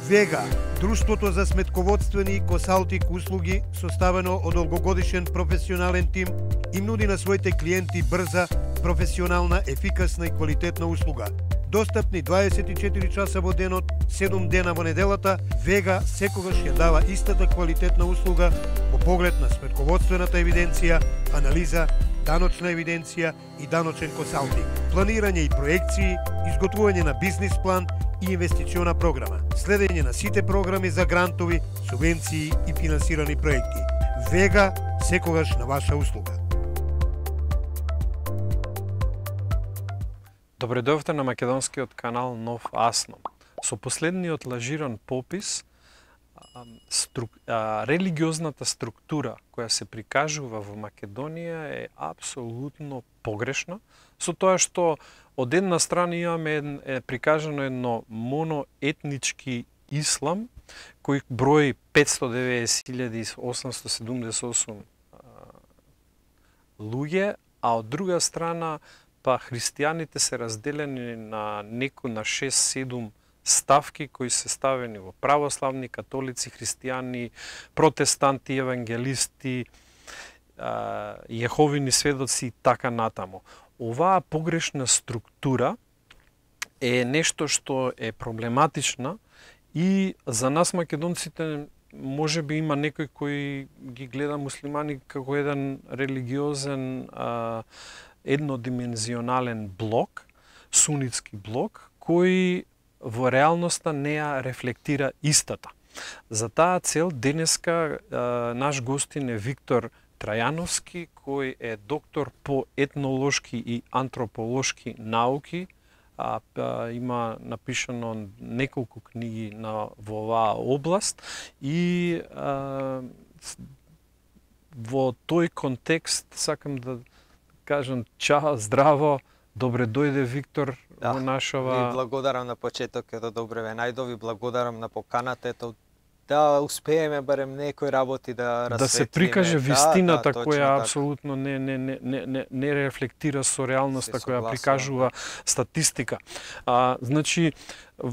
Вега, друштвото за сметководствени и консалтинг услуги, составено од долгогодишен професионален тим, им нуди на своите клиенти брза, професионална, ефикасна и квалитетна услуга. Достапни 24 часа во денот, 7 дена во неделата, Вега секогаш ја дава истата квалитетна услуга во поглед на сметководствената евиденција, анализа, даночна евиденција и даночен консалтинг, планирање и проекции, изготвување на бизнис план и инвестициона програма, следење на сите програми за грантови, субвенции и финансирани проекти. Вега секогаш на ваша услуга. Добре дојдовте на македонскиот канал Нов Асном. Со последниот лажиран попис, религиозната структура која се прикажува во Македонија е апсолутно погрешна, со тоа што од една страна имаме прикажано едно моноетнички ислам, кој брои 590.878 луѓе, а од друга страна па христијаните се разделени на 6-7 ставки кои се ставени во православни, католици, христијани, протестанти, евангелисти, јеховини сведоци и така натаму. Оваа погрешна структура е нешто што е проблематична и за нас македонците може би има некој кој ги гледа муслимани како еден религиозен еднодимензионален блок, сунитски блок, кој во реалноста не ја рефлектира истата. За таа цел денеска наш гостин е Виктор Трајановски, кој е доктор по етнолошки и антрополошки науки, има напишано неколку книги во оваа област и во тој контекст сакам да кажам чао, здраво, добре дојде Виктор во нашава... Ви благодарам на почетокот, добре ве најдови, благодарам на поканата, ето да успееме барем некои работи да расветлиме. Да се прикаже вистината која апсолутно не рефлектира со реалноста која прикажува статистика. Значи,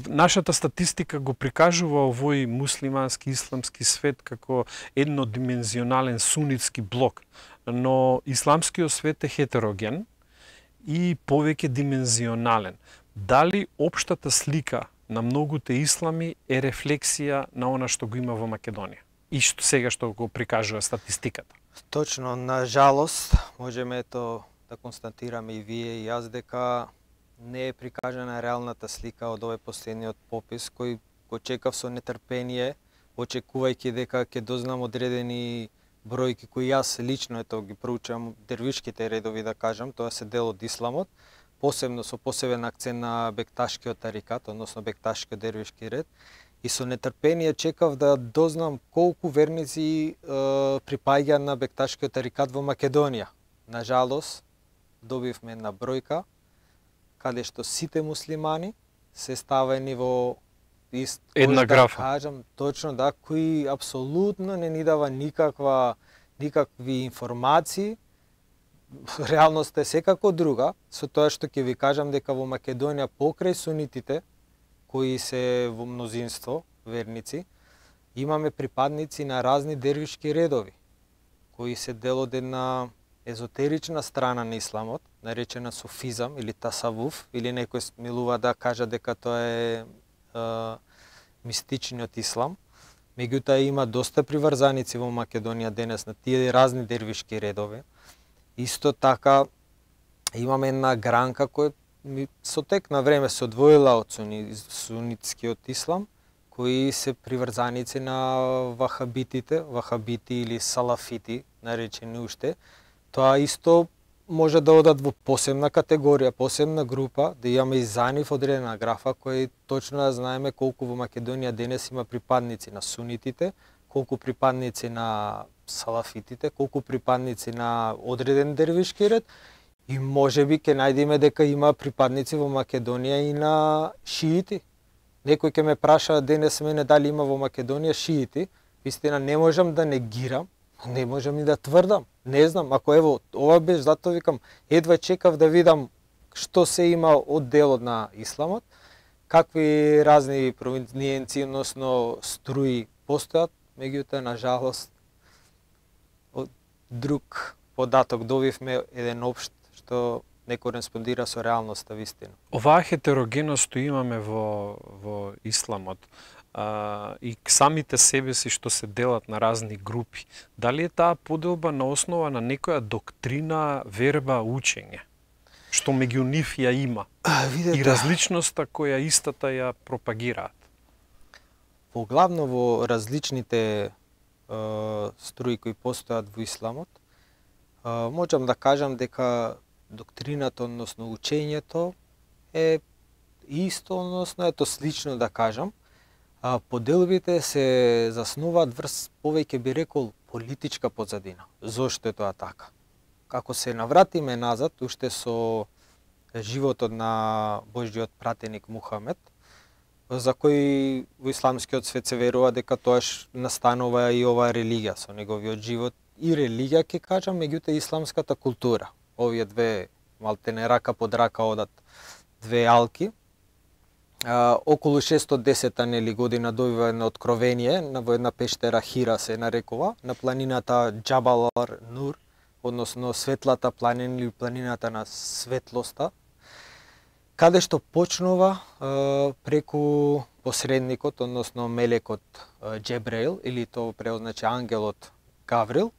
нашата статистика го прикажува овој муслимански исламски свет како еднодимензионален сунитски блок, но исламскиот свет е хетероген и повеќе димензионален. Дали општата слика на многуте ислами е рефлексија на она што го има во Македонија и што сега што го прикажува статистиката? Точно, на жалост, можеме да констатираме и вие и јас дека не е прикажана реалната слика од овој последниот попис кој го чекав со нетрпение, очекувајќи дека ќе дознам одредени бројки кои јас лично ги проучувам дервишките редови да кажам, тоа се дел од исламот, посебно со посебен акцент на бекташкиот тарикат, односно бекташкиот дервишки ред, и со нетрпение чекав да дознам колку верници припаѓа на бекташкиот тарикат во Македонија. На жалост, добивме една бројка каде што сите муслимани се ставени во една графа. Да кажам, точно да, кои апсолутно не ни дава никакви информации. Реалноста е секако друга, со тоа што ќе ви кажам дека во Македонија покрај сунитите, кои се во мнозинство верници, имаме припадници на разни дервишки редови, кои се дел од една езотерична страна на исламот, наречена суфизам или тасавуф, или некој смилува да кажа дека тоа е мистичниот ислам. Меѓутоа има доста приврзаници во Македонија денес на тие разни дервишки редови. Исто така имаме една гранка која со тек на време се одвоила од сунитскиот ислам, кои се приврзаници на вахабити или салафити, наречени уште. Тоа исто може да одат во посебна категорија, посебна група, да имаме и за нив одредена графа кој точно да знаеме колку во Македонија денес има припадници на сунитите, колку припадници на салафитите, колку припадници на одреден дервишки ред и можеби ќе најдеме дека има припадници во Македонија и на шиити. Некој ќе ме праша денес мене дали има во Македонија шиити. Вистина не можам да негирам, не можам и да тврдам. Не знам, ако ево ова беше затоа викам едва чекав да видам што се има од делот на исламот. какви разни провиниенци, односно струи постојат, меѓутоа на жалост од друг податок добивме еден општ што не кореспондира со реалноста вистина. Оваа хетерогеност што имаме во исламот и самите себе си што се делат на разни групи, дали е таа поделба на основа на некоја доктрина, верба, учење, што меѓу нив ја има, и различноста која истата ја пропагираат? Поглавно во различните струи кои постојат во исламот, можам да кажам дека доктрината, односно учењето е исто, односно ето слично да кажам. Поделбите се заснуваат врз повеќе би рекол политичка позадина. Зошто е тоа така? Како се навратиме назад, уште со животот на Божјиот пратеник Мухамед, за кој во исламскиот свет се верува дека тоаш настанува и оваа религија со неговиот живот и религија ќе кажам, меѓутоа исламската култура. Овие две малтене рака под рака одат две алки. Околу 610 нели година добива едно откровение во една пештера Хира се нарекува, на планината Джабал Нур, односно светлата планина или планината на светлоста, каде што почнува преку посредникот, односно мелекот Джебреил, или тоа преозначи ангелот Гаврил,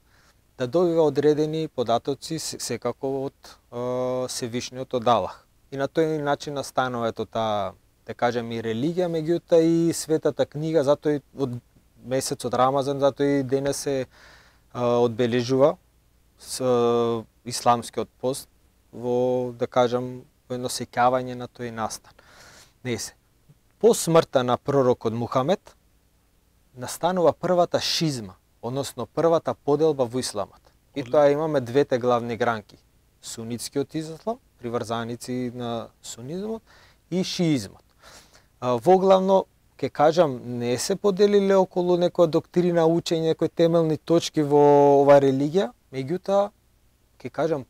да добива одредени податоци секако од Севишниот од Аллах. И на тој начин настанува таа, да кажем, и религија, меѓутоа и светата книга, затоа и од месецот Рамазан, затоа и денес се одбележува со исламскиот пост во, да кажам, едно сеќавање на тој настан. По смртта на пророкот Мухамед настанува првата шизма, односно првата поделба во исламот. И тоа имаме двете главни гранки: сунитскиот ислам, приврзаници на сунизмот, и шиизмот. Воглавно, ке кажам, не се поделиле околу некоја доктрина, учење, некои темелни точки во оваа религија, меѓутоа, ке кажам,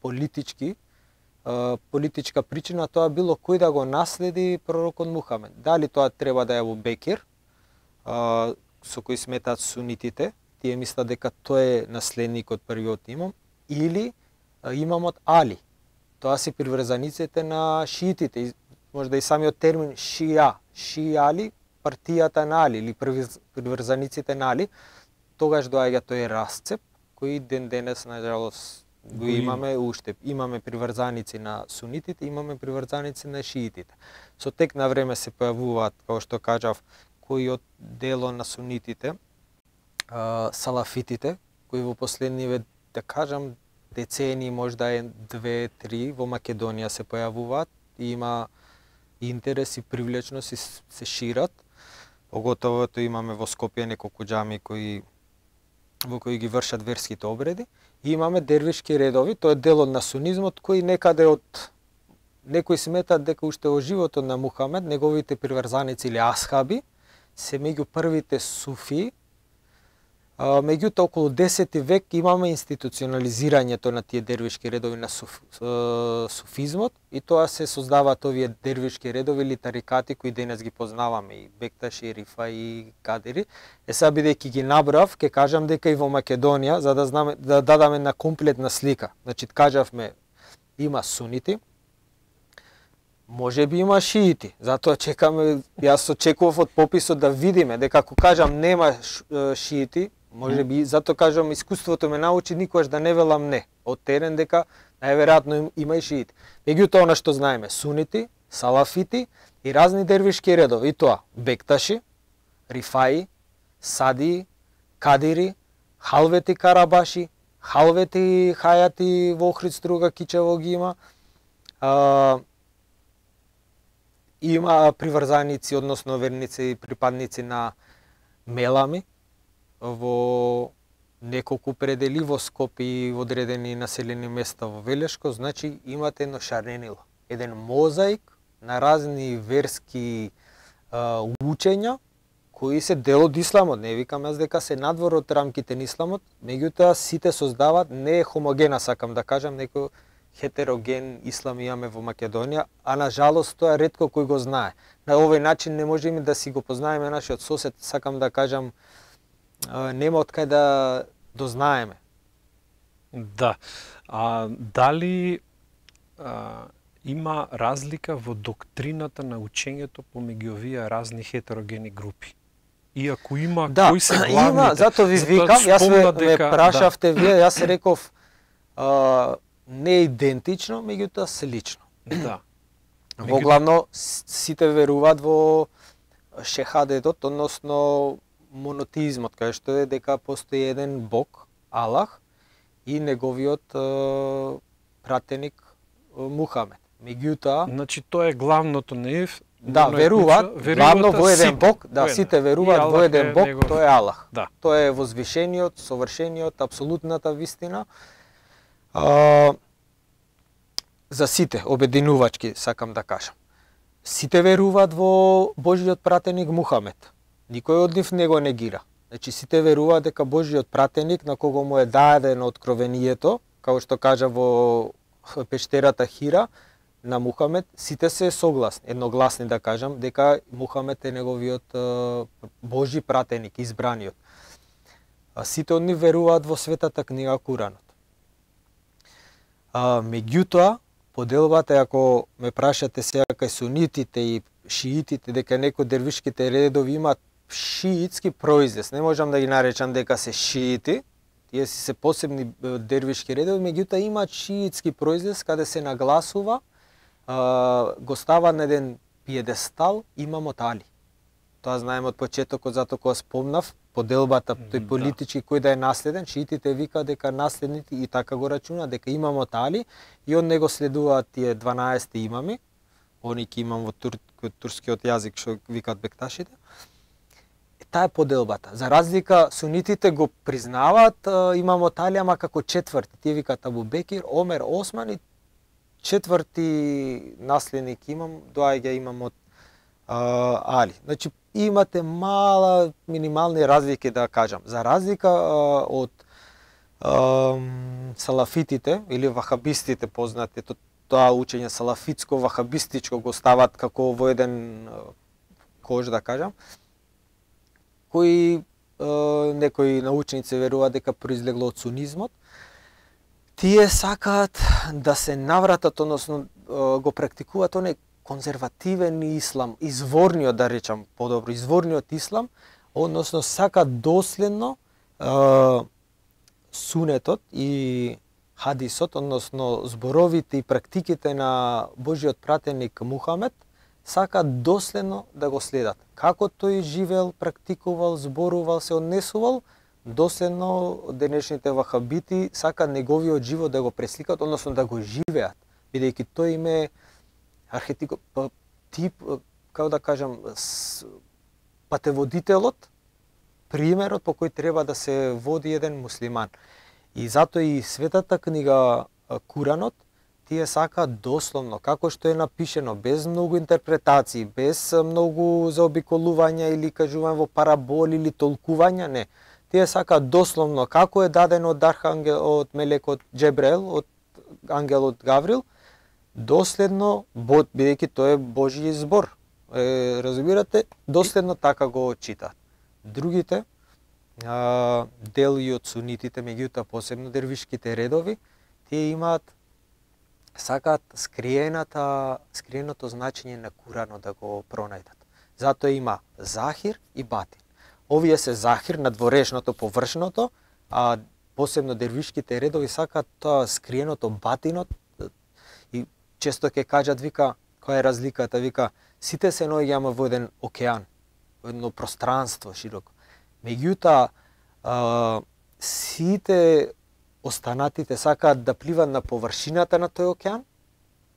политичка причина тоа било кој да го наследи пророкот Мухамед. Дали тоа треба да е Абу Бекир, со кој сметаат сунитите, тие мислат дека тој е наследникот првиот имам, или имамот Али. Тоа се приврзаниците на шиитите, можда и самиот термин Шиали, партијата на Али или приврзаниците на Али. Тогаш доаѓа тој расцеп кој ден денес на жалост го имаме уште. Имаме приврзаници на сунитите, имаме приврзаници на шиитите. Со тек на време се појавуваат, како што кажав, кои од дело на сунитите, салафитите, кои во последниве, да кажам, децени, можда е 2-3 во Македонија се појавуваат и има интерес и привлечност и се шират. Поготово имаме во Скопје неколку џами во кои ги вршат верските обреди. И имаме дервишки редови, тоа е дел од на сунизмот, кој некаде од некои сметат дека уште во животот на Мухамед, неговите приврзаници или асхаби се меѓу првите суфии. Меѓутоа, околу 10 век имаме институционализирањето на тие дервишки редови на суфизмот и тоа се создаваат овие дервишки редови или тарикати кои денес ги познаваме, и Бекташи, Рифа и Кадири. Сега бидејќи ги набрав, ќе кажам дека и во Македонија, за да знаме, да дадаме на комплетна слика. Значи, кажавме, има сунити, може би има шиити, затоа чекаме, јас очекував од пописот да видиме дека ако кажам нема шиити, може би, затоа кажам, искуството ме научи никогаш да не велам не, од терен дека најверојатно има и шиити. Меѓутоа, она што знаеме, сунити, салафити и разни дервишки редови, и тоа Бекташи, Рифаи, Садии, Кадири, Халвети Карабаши, Халвети Хајати во Охрид, Струга, Кичево ги има. Има приврзаници, односно верници и припадници на Мелами во неколку предели во Скопје и во одредени населени места во Велешко. Значи имате едно шаренило, еден мозаик на разни верски учења кои се дел од исламот. Не викам јас дека се надвор од рамките на исламот, меѓутоа сите создаваат, не е хомогена, сакам да кажам, некој хетероген ислам имаме во Македонија, а на жалост тоа ретко кој го знае. На овој начин не можеме да си го познаеме нашиот сосед, сакам да кажам, нема од кај да дознаеме. Да. Дали има разлика во доктрината на учењето помеѓу овие разни хетерогени групи? Иако има, да, кои се главните? Има, зато ви викам, јас ме прашавте вие, јас реков не идентично, меѓутоа слично. Да. Воглавно сите веруваат во шехадетот, односно монотеизмот, кај што е дека постои еден Бог, Аллах, и неговиот пратеник Мухамед. Меѓутоа, значи тоа е главното, не е? Да, веруваат главно во еден Бог, да, сите веруваат во еден Бог, тој е Аллах. Да. Тој е возвишениот, совршениот, апсолутната вистина. За сите, обединувачки, сакам да кажам. Сите веруваат во Божиот пратеник Мухамед. Никој од нив не го негира. Значи, сите веруваат дека Божиот пратеник, на кого му е дадено откровението, како што кажа во пештерата Хира, на Мухамед, сите се согласни, едногласни да кажам, дека Мухамед е неговиот Божи пратеник, избраниот. Сите од нив веруваат во светата книга Куранот. Меѓутоа, поделбата, ако ме прашате сега кај сунитите и шиитите, дека некои дервишките редови имаат шиитски произнес, не можам да ги наречам дека се шиити, тие си се посебни дервишки редови, меѓутоа имаат шиитски произнес каде се нагласува, го става на еден пиедестал имамот Али. Тоа знаеме од почетокот, затоа кога спомнав поделбата, тој политички кој да е наследен, шиитите вика дека наследните и така го рачуна дека имамот Али и од него следуваат тие 12 имами, они ки имам во турскиот јазик што викаат бекташите. Таа е поделбата. За разлика, сунитите го признаваат имамот Али, ама како четврти. Тие викаат Абу Бекир, Омер, Осман и четврти наследник имам, доаѓа имамот Али. Значи, имате минимални разлики да кажам. За разлика од салафитите или вахабистите познати, тоа учење салафитско-вахабистичко го стават како во еден кош да кажам, кои некои научници веруваат дека произлегло од сунизмот, тие сакаат да се навратат, односно го практикуваат оној конзервативен ислам, изворниот да речам подобро, изворниот ислам, односно сакаат доследно сунетот и хадисот, односно зборовите и практиките на Божиот пратеник Мухамед, сакаат доследно да го следат. Како тој живеел, практикувал, зборувал, се однесувал, доследно денешните вахабити сакаат неговиот живот да го пресликаат, односно да го живеат, бидејќи тој им е архетип, тип, како да кажам, патеводителот, примерот по кој треба да се води еден муслиман. И затоа и светата книга Куранот, тие сакаат дословно, како што е напишено, без многу интерпретации, без многу заобиколувања или кажување во параболи или толкувања, не. Тие сакаат дословно, како е дадено од архангел, од мелекот Джебрел, од ангелот Гаврил, доследно, бидејќи тоа е Божји збор. Разбирате, доследно така го читаат. Другите, дел и од сунитите, меѓутоа посебно дервишките редови, тие имаат, сакаат скриеното значење на Куранот да го пронајдат. Затоа има захир и батин. Овие се захир, надворешното, површното, а посебно дервишките редови сакаат тоа скриеното, батинот. И често ќе кажат, вика, која е разликата, вика, сите се наоѓаме во еден океан, во едно пространство широко. Меѓутоа, сите останатите сакаат да пливат на површината на тој океан,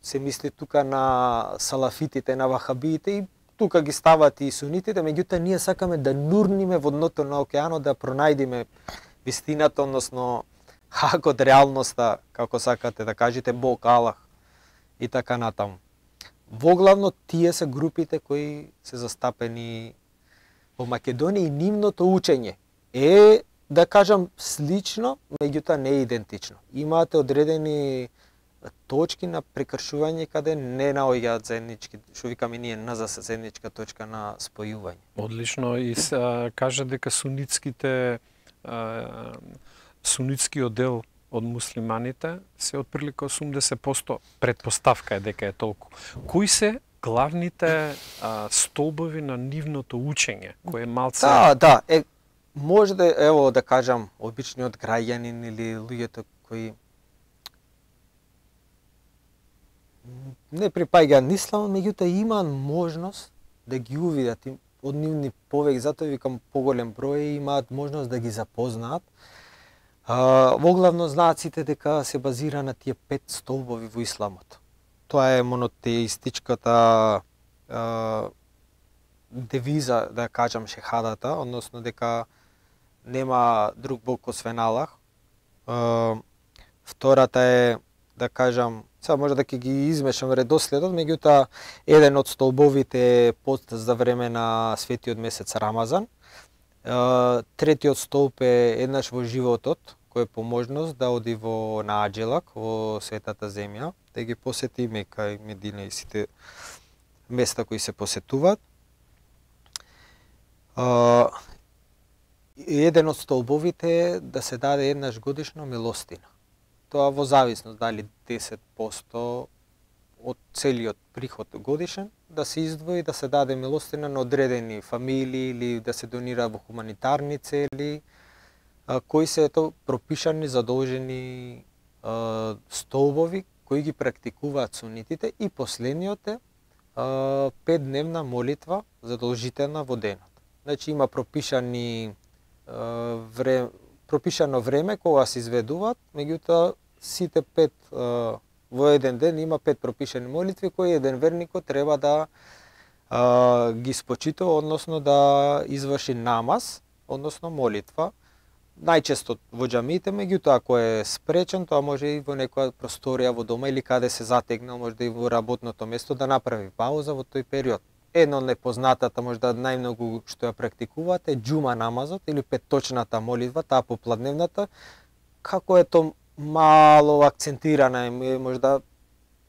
се мисли тука на салафитите, на вахабиите и тука ги стават и сунитите, меѓутоа ние сакаме да нурниме во дното на океанот, да пронајдиме вистината, односно хакот, реалноста, како сакате да кажете, Бог, Аллах и така натаму. Воглавно тие се групите кои се застапени во Македонија и нивното учење е, да кажам, слично, меѓутоа не е идентично. Имате одредени точки на прекршување каде не наоѓаат заеднички, што викаме ние НЗС, заедничка точка на спојување. Одлично, и кажа дека сунитскиот дел од муслиманите се отприлика 80%, предпоставка е дека е толку. Кои се главните столбови на нивното учење, кој е малце... Да, може да, ево да кажам, обичниот граѓанин или луѓето кои не припаѓаат на ислам, меѓутоа имаат можност да ги увидат од нивни повеќе, затоа викам поголем број, имаат можност да ги запознаат. Воглавно знаците дека се базира на тие 5 столбови во исламот. Тоа е монотеистичката девиза, да кажам, шехадата, односно дека нема друг бог освен Аллах. Втората е, да кажам, сега може да ќе ги измешам редоследот, меѓутоа еден од столбовите е пост за време на светиот месец Рамазан. Третиот столб е еднаш во животот, кој е по можност да оди во Нааџелак, во светата земја, да ги посети Мека и Медина и сите места кои се посетуваат. Еден од столбовите е да се даде еднаш годишно милостина. Тоа во зависност дали 10% од целиот приход годишен да се издвои да се даде милостина на одредени фамилии или да се донира во хуманитарни цели, кои се пропишани задолжени столбови кои ги практикуваат сунитите, и последниот е 5-дневна молитва задолжителна во денот. Значи има пропишано време кога се изведуваат, меѓутоа сите 5 во еден ден има 5 пропишани молитви кои еден верникот треба да ги спочитува, односно да изврши намаз, односно молитва. Најчесто во џамиите, меѓутоа ако е спречен, тоа може и во некоја просторија во дома или каде се затегнал, може да и во работното место да направи пауза во тој период. Едно од непознатата, можда најмногу што ја практикуваат е џума намазот или петточната молитва, таа попладневната, како е тоа мало акцентирана, можда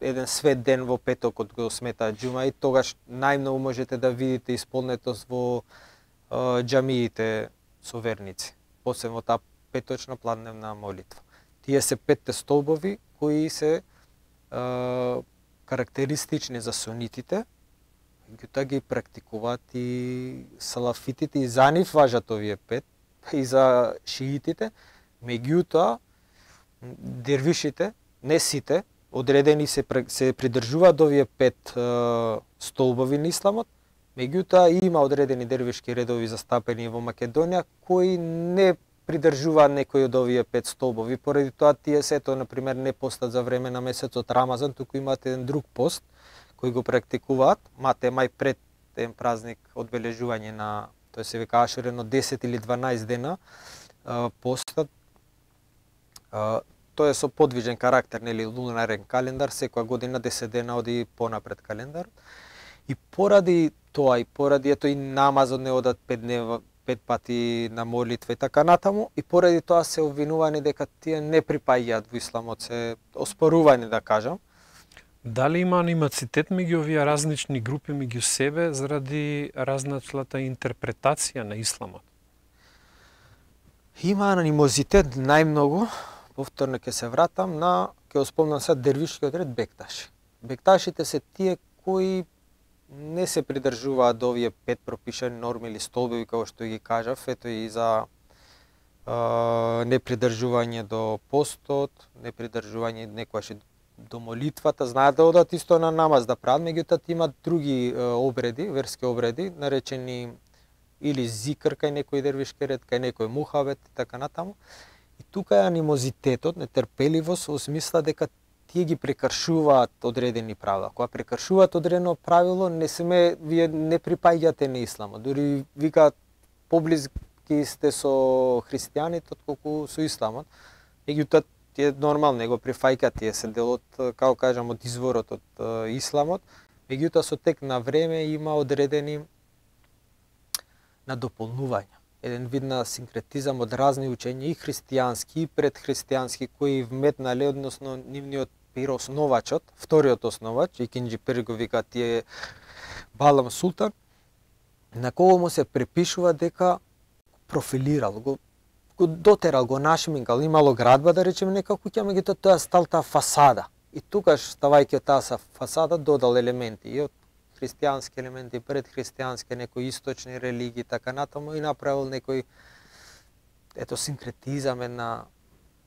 еден свет ден во петокот го смета џума и тогаш најмногу можете да видите исполнетост во џамиите со верници, посебно таа петочна пладневна молитва. Тие се 5 столбови кои се карактеристични за сунитите, меѓутоа ги практикуваат и салафитите, и за нив важат овие 5, и за шиитите, меѓутоа дервишите, не сите, одредени се придржуваат овие 5 столбови на исламот, меѓутоа има одредени дервишки редови застапени во Македонија кои не придржуваат некои од овие 5 столбови, поради тоа тие сето, например, не постат за време на месецот Рамазан, туку имаат еден друг пост кои го практикуваат, мате мај пред еден празник одбележување на, тој се вика Ашурен, од 10 или 12 дена постат. Тоа е со подвижен карактер, нели, лунарен календар, секоја година 10 дена оди понапред календар. И поради тоа, и поради ето и намазот не одат 5 пати на молитва и така натаму, и поради тоа се обвинувани дека тие не припаѓаат во исламот, се оспорувани, да кажам. Дали има анимацитет меѓу овие разнични групи меѓу себе заради разначлата интерпретација на исламот? Има анимозитет најмногу, повторно ќе се вратам на, ќе спомнам сега дервишкиот ред Бекташи. Бекташите се тие кои не се придржуваат до овие 5 пропишани норми или столбови, како што ги кажав, ето и за непридржување до постот, непридржување некојаш до молитвата, знаат да одат исто на намаз да прават, меѓутоа имат други обреди, верски обреди, наречени или зикр кај некој дервишки ред, кај некој мухабет и така натаму. И тука е анимозитетот, нетрпеливост во смисла дека тие ги прекршуваат одредени правила. Кога прекршуваат одредено правило, вие не припаѓате на исламот. Дури викаат поблиски сте со христијаните отколку со исламот. Меѓутоа тие нормално не го прифаќаат, тие се дел од, како кажам, од изворот од исламот. Меѓутоа со тек на време има одредени надополнувања. Еден вид на синкретизам од разни учења, и христијански, и предхристијански, кои вметнале, односно нивниот Пир, основачот, вториот основач, Икинџи Пир го вика тие Балам Султан, на кого му се препишува дека профилирал, го дотерал, го нашминкал, имало градба, да речеме, нека куќа, меѓутоа тоа стал таа фасада. И тука, ставајќи од таа фасада, додал елементи, и од христијански елементи, предхристијански, некои источни религии, така натаму, и направил некој, ето, синкретизам, една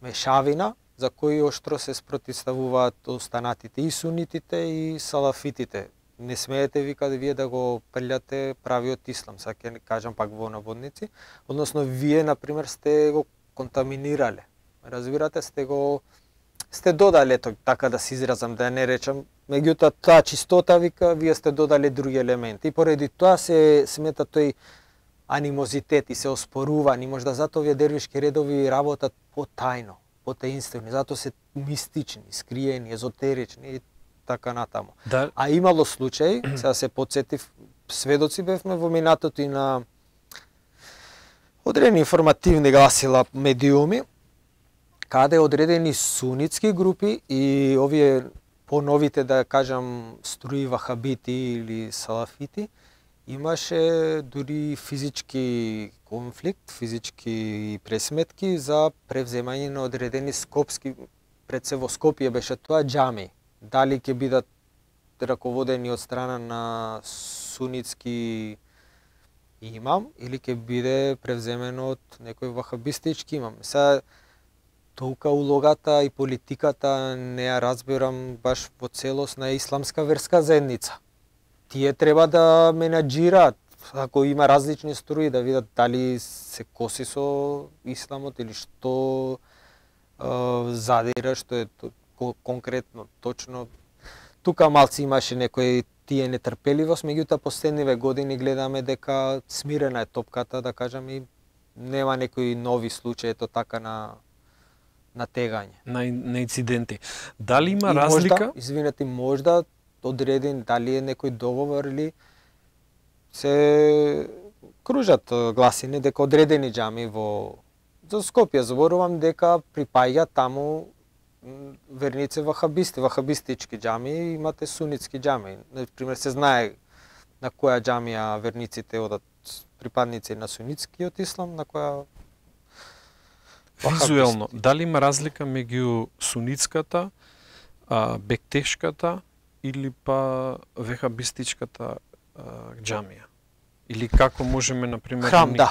мешавина, за кои оштро се спротивставуваат останатите и сунитите и салафитите. Не смеете вика вие да го прелјате правиот ислам, сега ќе кажам пак во наводници, односно вие например сте го контаминирале. Разбирате, сте додале, ето така да се изразам, да не речам, меѓутоа таа чистота вика вие сте додале други елементи и поради тоа се смета тој анимозитет и се оспорува, и можда затоа овие дервишки редови работат потајно, потаинствени, затоа се мистични, скриени, езотерични и така натаму. Да. А имало случаи, сега се подсетив, сведоци бевме во минатото и на одредени информативни гласила медиуми, каде одредени сунитски групи и овие поновите, да кажам, струи вахабити или салафити, имаше дури физички конфликт, физички пресметки за превземање на одредени скопски, пред се во Скопје беше тоа, џами. Дали ќе бидат раководени од страна на сунитски имам или ќе биде превземено од некој вахабистички имам. Сега толка улогата и политиката не ја разбирам баш во целост на исламска верска заедница. Тие треба да менаџираат, ако има различни струи, да видат дали се коси со исламот или што задира, што е конкретно, точно. Тука малци имаше некој тие нетрпеливост, меѓутоа последниве години гледаме дека смирена е топката, да кажам, и нема некои нови случаи, ето така на тегање. На инциденти. Дали има разлика? Извинете, можда одреден, дали е некој договор или се кружат гласини дека одредени џами за Скопје зборувам дека припаѓа таму верници вахабисти, вахабистички џами, имате сунитски џами. Например, се знае на која џамија верниците одат припадници на сунитскиот ислам, на која визуелно. Дали има разлика меѓу сунитската, бектешката или па вехабистичката џамија? Или како можеме, например... Храм, да.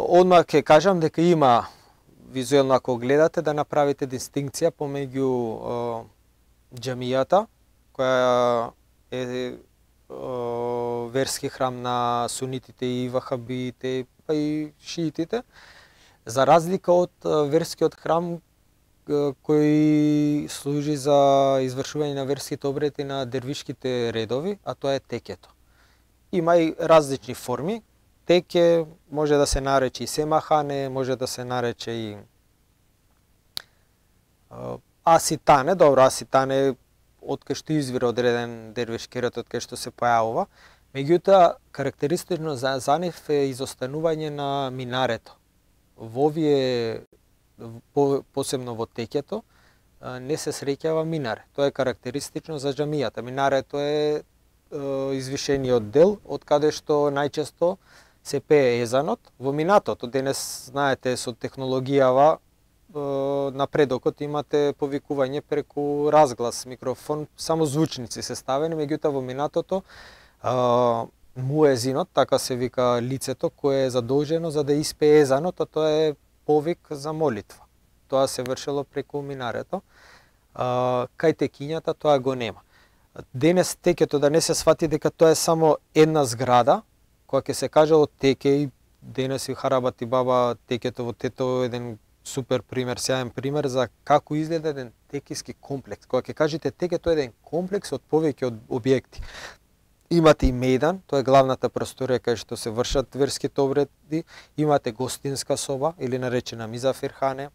Одма ќе кажам дека има визуелно, ако гледате, да направите дистинкција помеѓу џамијата, која е верски храм на сунитите и вахабиите, па и шиитите, за разлика од верскиот храм кој служи за извршување на верските обреди на дервишките редови, а тоа е текето. Има и различни форми. Теке може да се нарече и семахане, може да се нарече и аситане. Добро, аситане од кај што извира одреден дервишки ред, од кај што се појавува. Меѓутоа, карактеристично за нив е изостанување на минарето. Во овие, посебно во текето, не се среќава минаре. Тоа е карактеристично за џамијата. Минарето е извишениот дел, од каде што најчесто се пее езанот. Во минатото, денес, знаете, со технологијава, напредокот имате повикување преку разглас, микрофон, само звучници се ставени, меѓутоа во минатото муезинот, така се вика лицето кое е задолжено за да испее езанот, а тоа е повик за молитва. Тоа се вршело преку минарето. Кај текињата тоа го нема. Денес текето, да не се свати дека тоа е само една зграда, која ќе се каже од теке, и денес и Харабат и Баба текето во Тето еден супер пример, сјаен пример за како изгледа еден текиски комплекс. Кога ќе кажете текето е еден комплекс од повеќе од објекти. Имате и мејдан, тоа е главната просторија кај што се вршат верските обреди, имате гостинска соба или наречена мизафирхане.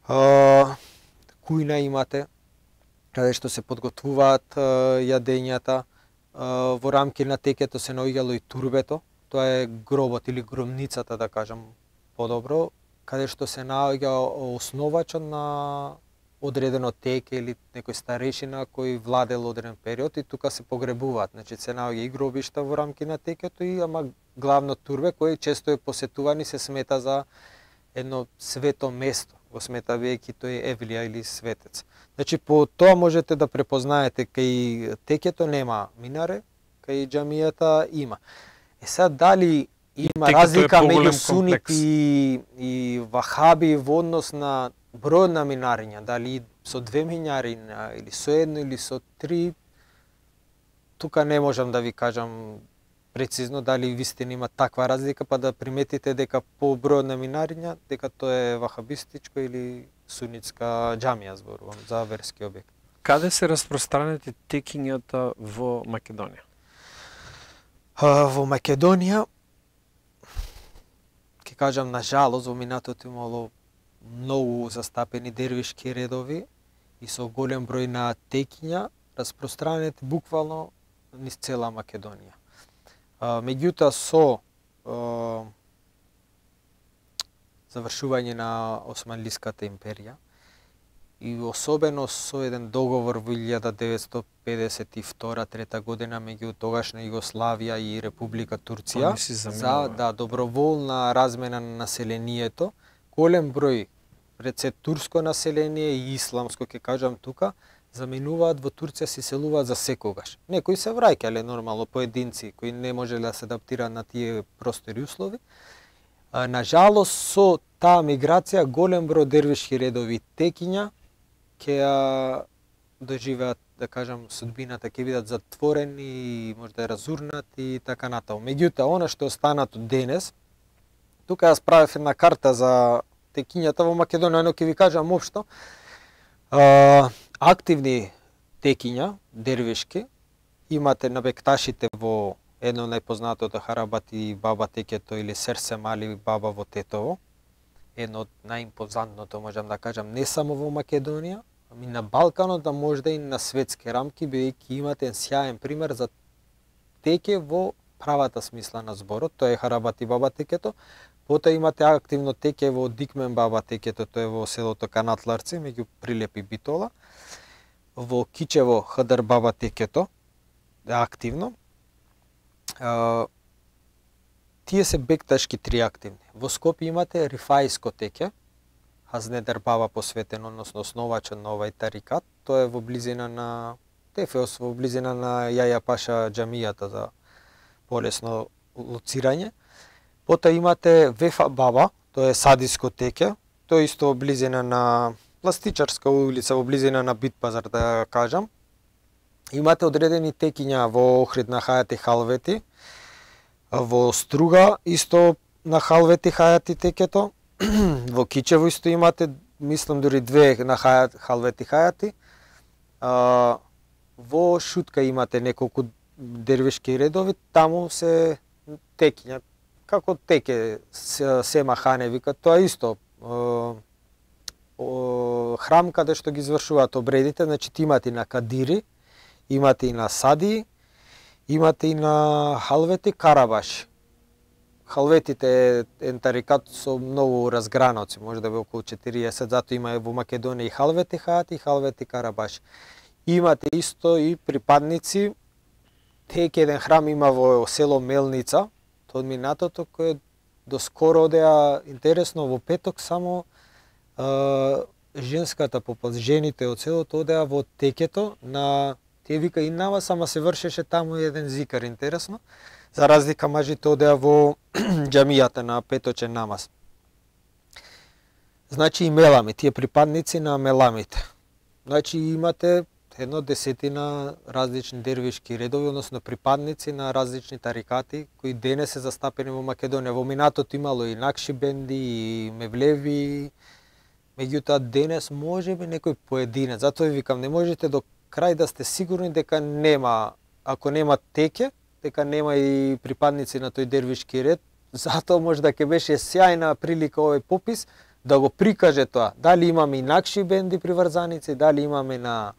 Кујна имате, каде што се подготвуваат јадењата. Во рамки на текето се наоѓало и турбето, тоа е гробот или громницата, да кажам подобро, каде што се наоѓа основачот на одредено теке или некој старешина кој владел одреден период и тука се погребуваат. Значи се наоѓа и гробишта во рамки на текето и ама главно турбе кој често е посетуван и се смета за едно свето место. Го смета веќе тој Евлија или светец. Значи по тоа можете да препознаете кај текето нема минаре, кај џамијата има. Сега дали има разлика меѓу сунити и вахаби во однос на број на минариња, дали со 2 минариња или со 1 или со 3, тука не можам да ви кажам прецизно дали вистина има таква разлика, па да приметите дека по број на минариња, дека тоа е вахабистичко или сунитска џамија, зборувам за верски објект. Каде се распространети текињата во Македонија? Во Македонија, ќе кажам, на жалост, во минатото имало многу застапени дервишки редови и со голем број на текиња распространети буквално низ цела Македонија. Меѓутоа со завршување на Османлиската империја и особено со еден договор во 1952-3 година меѓу тогашна Југославија и Република Турција за доброволна размена на населението, голем број пред се турско население и исламско, ќе кажам тука, заменуваат во Турција, се селуваат за секогаш. Некои се враќале нормално, поединци кои не можеле да се адаптираат на тие простори услови. На жалост со таа миграција голем број дервишки редови текиња ќе доживеат, да кажам, судбината, ќе бидат затворени, можда разурнати и така натаму. Меѓутоа, она што останато денес, тука јас правев една карта за текињата во Македонија, но ќе ви кажам општо, активни текиња, дервишки, имате на бекташите во едно најпознатото Харабати баба текето или Серсем Али баба во Тетово, едно од најимпозантното, можам да кажам, не само во Македонија, ами на Балканот, а можда и на светски рамки, бидејќи имате сјаен пример за теке во правата смисла на зборот, тоа е Харабати баба текето. Потоа имате активно теке во Дикмен баба текето, тоа е во селото Канатларци, меѓу Прилеп и Битола. Во Кичево Хадар баба текето е активно. Тие се бекташки три активни. Во Скопје имате Рифаиско теке, Хазнедер баба посветен, односно основачот на овај тарикат. Тоа е во близина на Тефеос, во близина на Јаја Паша џамијата за полесно лоцирање. Потоа имате Вефа баба, тоа е Садиско теке, тоа исто во близина на Пластичарска улица, во близина на Битпазар, да кажам. Имате одредени текиња во Охрид на Хајати Халвети, во Струга исто на Халвети Хајати текето, во Кичево исто имате, мислам дури две на Халвети Хајати. Во Шутка имате неколку дервишки редови, таму се текиња, како теке Сема Хане вика, тоа исто храм каде што ги извршуваат обредите, значи имате и на Кадири, имате и на Сади, имате и на Халвети Карабаш. Халветите е тарикат со многу разграноци, може да бе околу 40, затоа има во Македонија и Халвети Хајати и Халвети Карабаш. Имате исто и припадници, теке еден храм има во село Мелница, тоа од минатото, кој доскоро одеа, интересно, во петок само женската популација, жените од селото одеа во текето на тие вика и намаз, ама се вршеше таму еден зикар, интересно. За разлика мажите одеа во џамијата на петочен намаз. Значи и мелами, тие припадници на меламите. Значи имате едно десетина различни дервишки редови, односно припадници на различни тарикати кои денес се застапени во Македонија. Во минатото имало и Накшибенди, и Мевлеви, меѓутоа денес можеби некој поединец. Затоа ви викам, не можете до крај да сте сигурни дека нема, ако нема теке, дека нема и припадници на тој дервишки ред. Затоа може да ќе беше сјајна прилика овој попис да го прикаже тоа. Дали имаме и Накшибенди приврзаници, дали имаме на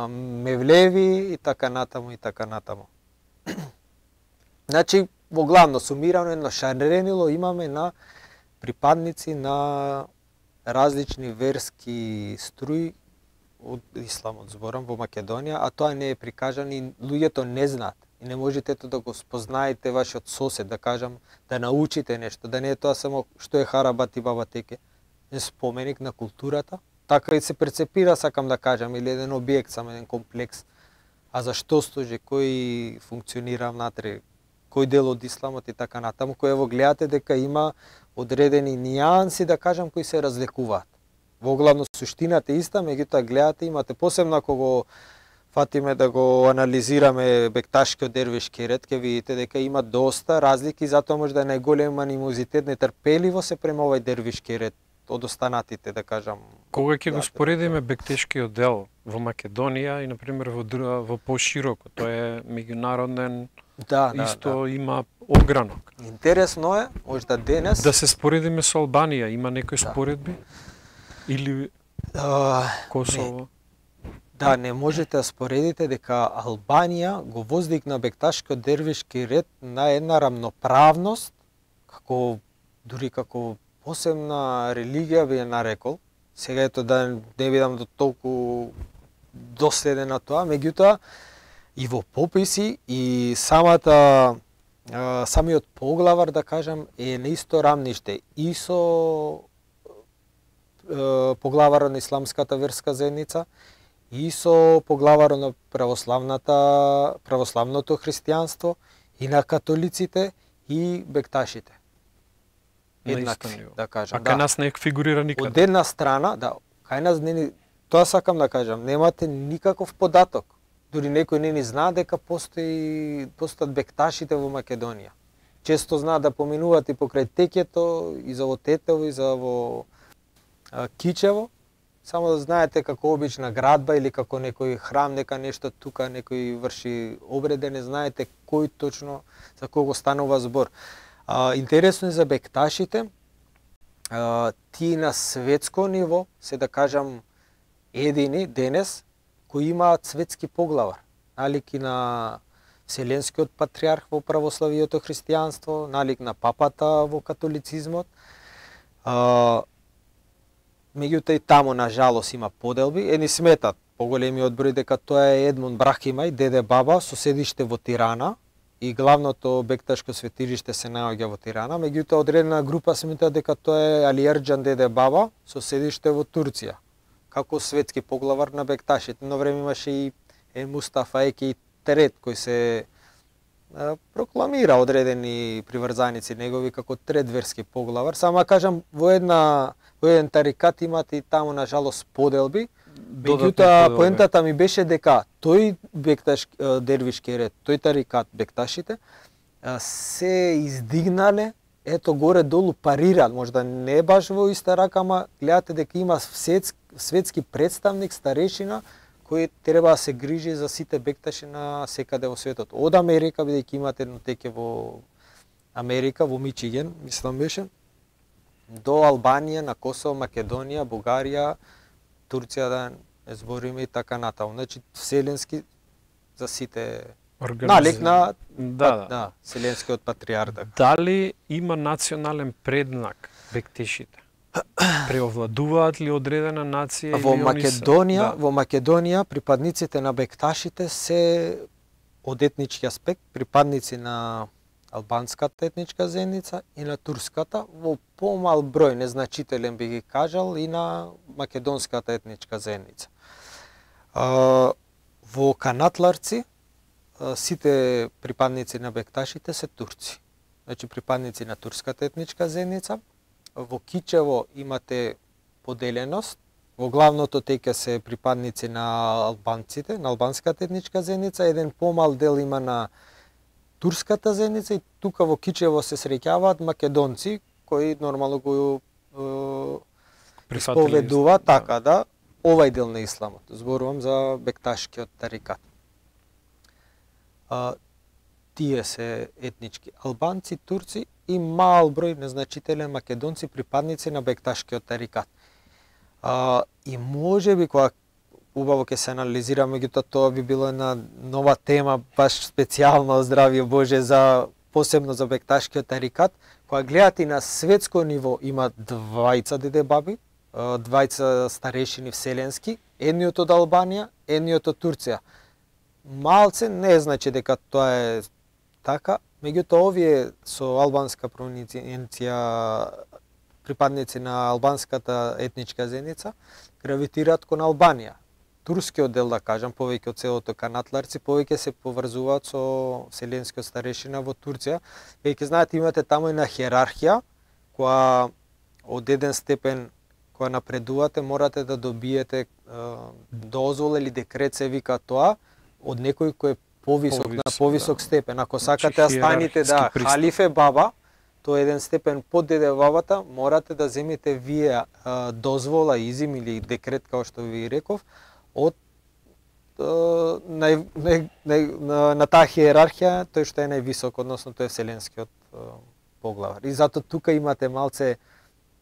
Мевлеви и така натаму и така натаму. Значи, во главно сумирано едно шаренило имаме на припадници на различни верски струи од исламот, зборам, во Македонија, а тоа не е прикажано и луѓето не знаат. И не можете да го спознаете вашиот сосед, да кажам, да научите нешто, да не е тоа само што е харабат и баба теке, е споменик на културата. Така и се перцепира, сакам да кажам, или еден објект, само еден комплекс. А зашто служи, кој функционира внатре, кој дел од исламот и така натаму, кој ево гледате дека има одредени нијанси, да кажам, кои се разликуваат. Во главно суштината е иста, меѓутоа гледате, имате посебно ако го фатиме да го анализираме бекташкиот дервишки ред, ќе видите дека има доста разлики, затоа може да е најголем анимозитет, нетрпеливо се према овај дервишки ред од останатите, да кажам. Кога ќе го споредиме бектешкиот дел во Македонија и, например, во пошироко, тоа е меѓународен, исто има огранок. Интересно е, можда денес... Да се споредиме со Албанија, има некои споредби? Или Косово? Да, не можете да споредите дека Албанија го воздигна бекташкиот дервишки ред на една рамноправност, дури како посебна религија би ја нарекол. Сега ето да не бидам до толку доследен на тоа, меѓутоа и во пописи и самиот поглавар, да кажам, е на исто рамниште и со поглаварот на исламската верска заедница и со поглаварот на православното христијанство и на католиците и бекташите. Еднакви, да кажам. А кај нас не фигурира никаде. Од една страна, да, кај нас не, тоа сакам да кажам, немате никаков податок. Дури некој не ни знае дека постојат бекташите во Македонија. Често знаат да поминуваат и покрај Текето, и за во Тетево, и за во Кичево, само да знаете како обична градба или како некој храм, нека нешто тука, некој врши обреде, не знаете кој точно, за кого станува збор. Интересно е за бекташите, тие на светско ниво се, да кажам, едини денес кои имаат светски поглавар, налик и на Вселенскиот патриарх во православието христијанство, налик на папата во католицизмот. Меѓутоа и таму на жалост има поделби, едни сметат поголемиот број дека тоа е Едмон Брахимај, деде баба, со седиште во Тирана, и главното бекташко светилиште се наоѓа во Тирана, меѓутоа одредена група сметат дека тоа е Али Ерџан, деде баба, со седиште во Турција, како светски поглавар на бекташите. Но време имаше и Мустафа Еки Терет, кој се прокламира одредени приврзаници негови како трет верски поглавар. Само кажам, во еден тарикат имате и таму на жалост поделби. Меѓутоа поентата ми беше дека тој дервишки ред, тој тарикат бекташите се издигнале, ето горе долу парирал, можда не баш во иста рака, ама гледате дека има светски представник, старешина, кој треба да се грижи за сите бекташи на секаде во светот. Од Америка, бидејќи имате едно теке во Америка, во Мичиген, мислам беше, до Албанија, на Косово, Македонија, Бугарија, Турција, да не збориме и така натаму. Значи, вселенски за сите налик на вселенскиот патриарх. Дали има национален преднак бектешите? Преовладуваат ли одредена нација или Во Македонија припадниците на бекташите се од етнички аспект припадници на албанската етничка заедница и на турската, во помал број, незначителен би ги кажал, и на македонската етничка заедница. Во Канатларци сите припадници на бекташите се турци. Значи припадници на турската етничка заедница. Во Кичево имате поделеност. Во главното теке се припадници на албанците, на албанската етничка заедница, еден помал дел има на турската заедница и тука во Кичево се среќаваат македонци кои нормално го исповедуваат така да овај дел на исламот. Зборувам за бекташкиот тарикат. Тие се етнички албанци, турци и мал број незначителен македонци припадници на бекташкиот тарикат. И можеби кога убаво ќе се анализира, меѓутоа тоа би било една нова тема, баш специјално, здравје Боже, за посебно за бекташкиот тарикат, кога гледате на светско ниво има двајца деде баби, двајца старешини вселенски, едниот од Албанија, едниот од Турција. Малце не значи дека тоа е така, меѓутоа овие со албанска провинција, припадници на албанската етничка заедница, гравитираат кон Албанија. Турскиот дел, да кажам, повеќе од селото канатларци, повеќе се поврзуваат со вселенскиот старешина во Турција. Веќе знаете, имате таму една хиерархија, која од еден степен која напредувате, морате да добиете дозвола или декрет се вика тоа, од некој кој е повисок степен. Ако сакате да станете халифе баба, тоа е еден степен под деде бабата, морате да земете вие дозвола, изим или декрет, како што ви реков, од на таа хиерархија, тој што е највисок, односно тој е вселенскиот поглавар. И затоа тука имате малце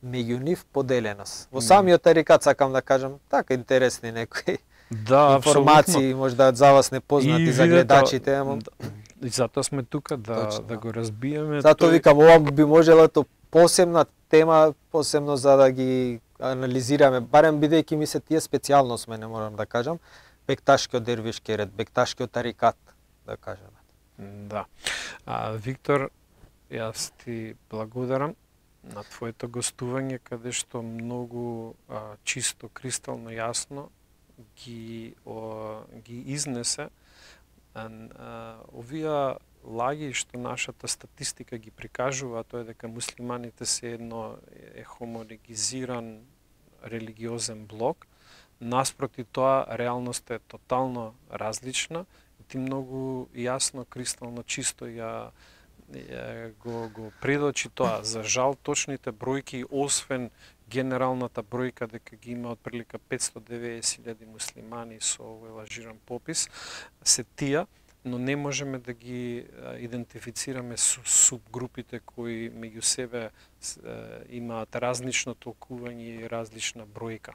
меѓу нив поделеност. Во самиот тарикат сакам да кажам, така интересни некои информации, можда за вас непознати за гледачите, ама и затоа сме тука да го разбиеме. Затоа викам, ова би можела посебна тема, посебно за да ги анализираме, барем бидејќи ми се тие специјалност мене, морам да кажам, бекташкиот дервишки ред, бекташкиот тарикат, да кажеме. Да. Виктор, јас ти благодарам на твоето гостување, каде што многу чисто, кристално јасно ги изнесе овие лаги што нашата статистика ги прикажува, тоа е дека муслиманите се едно е хомогенизиран религиозен блок. Наспроти тоа, реалноста е тотално различна и ти многу јасно, кристално чисто го предочи тоа. За жал, точните бројки, освен генералната бројка дека ги има отприлика 590.000 муслимани со овој лажиран попис, се тие, но не можеме да ги идентифицираме субгрупите кои меѓу себе имаат различно толкување и различна бројка.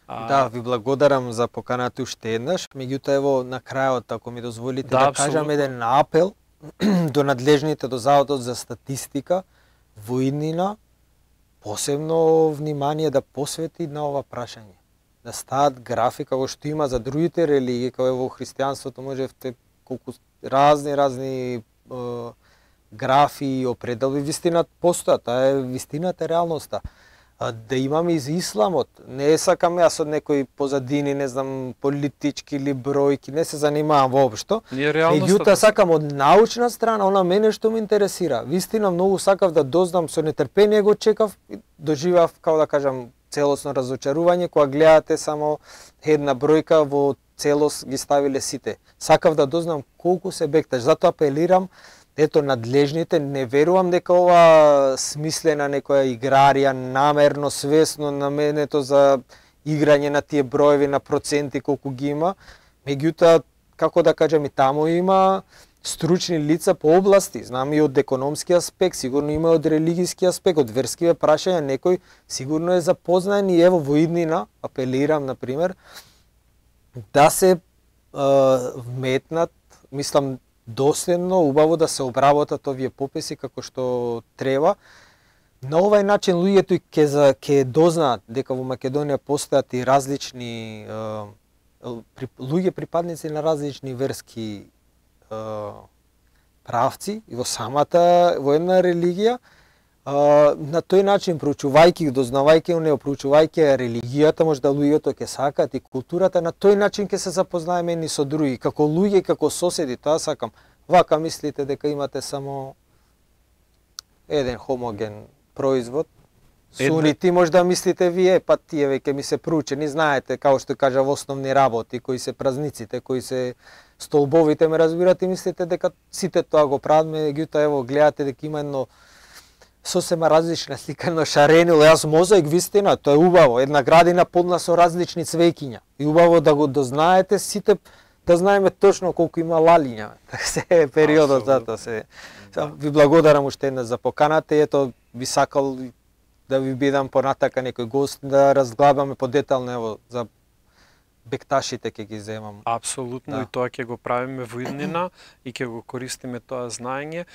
Да, ви благодарам за поканата уште еднаш, меѓутоа ево на крајот, ако ми дозволите да кажам еден апел до надлежните, до Заводот за статистика, во иднина посебно внимание да посвети на ова прашање. Да стават графика, како што има за другите религии, како во христијанството можевте колку разни графи и определби, вистина постојат, таа е вистината, реалноста. Да имаме и за исламот, не сакам јас од некои позадини, не знам, политички или бројки, не се занимавам воопшто. Меѓутоа сакам од научна страна, она мене што ме интересира. Вистина многу сакав да дознам, со нетрпение го чекав и доживав, како да кажам, целосно разочарување, кога гледате само една бројка во целост ги ставиле сите. Сакав да дознам колку се бекташ, затоа апелирам, ето надлежните, не верувам дека ова смислена некоја играрија, намерно, свесно наменето за играње на тие броеви, на проценти колку ги има. Меѓутоа, како да кажам, и таму има стручни лица по области, знам и од економски аспект, сигурно има од религиски аспект, од верскиве прашања, некој сигурно е запознаен и ево во иднина, апелирам, например, да се вметнат, мислам, доследно, убаво да се обработат овие пописи како што треба. На овај начин луѓето ќе дознаат дека во Македонија постојат и различни луѓе припадници на различни верски правци и во една религија. На тој начин, проучувајќи, дознавајќи, проучувајќи религијата, можда луѓето ќе сакаат и културата, на тој начин ќе се запознаеме едни со други, како луѓе, како соседи, тоа сакам. Вака мислите дека имате само еден хомоген производ, сунити, можда мислите вие, па тие веќе ми се проучени, знаете, како што кажа во основни работи, кои се празниците, кои се столбовите, ме разбирате, мислите дека сите тоа го прават, меѓутоа ево гледате дека има едно сосема различна слика, едно шаренило, јас мозаик, вистина, тоа е убаво, една градина полна со различни цвеќиња. И убаво да го дознаете сите, да знаеме точно колку има лалиња. Се е периодот, затоа се. Ви благодарам уште еднаш за поканата и ето би сакал да ви бидам понатака некој гост, да разглабаме подетално ево за бекташите ќе ги земам. Апсолутно, и тоа ќе го правиме во иднина и ќе го користиме тоа знаење.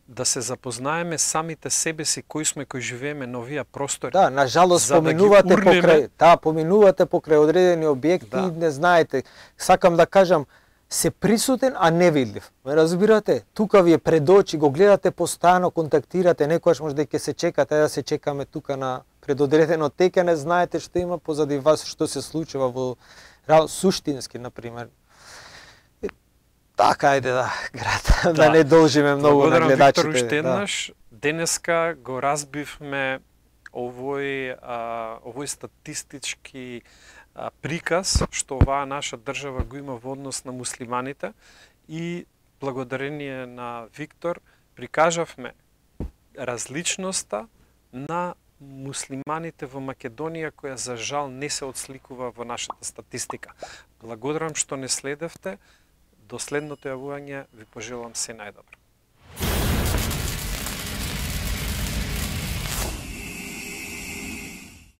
да се запознаеме самите себе си, кои сме, кои живееме на овие простори. Да, на жалост поминувате поминувате покрај одредени објекти и не знаете. Сакам да кажам, се присутен, а невидлив. Ме разбирате? Тука ви е пред очи, го гледате постојано, контактирате, некојаш може да ќе се чекате, да се чекаме тука на предодредено теке, не знаете што има позади вас, што се случува во суштински, например. Така, ајде град, да не должиме многу на гледачите. Виктор, уште еднаш, денеска го разбивме овој статистички приказ што оваа наша држава го има во однос на муслиманите и благодарение на Виктор прикажавме различноста на муслиманите во Македонија која за жал не се отсликува во нашата статистика. Благодарам што не следевте. До следното јавување ви пожелам се најдобро.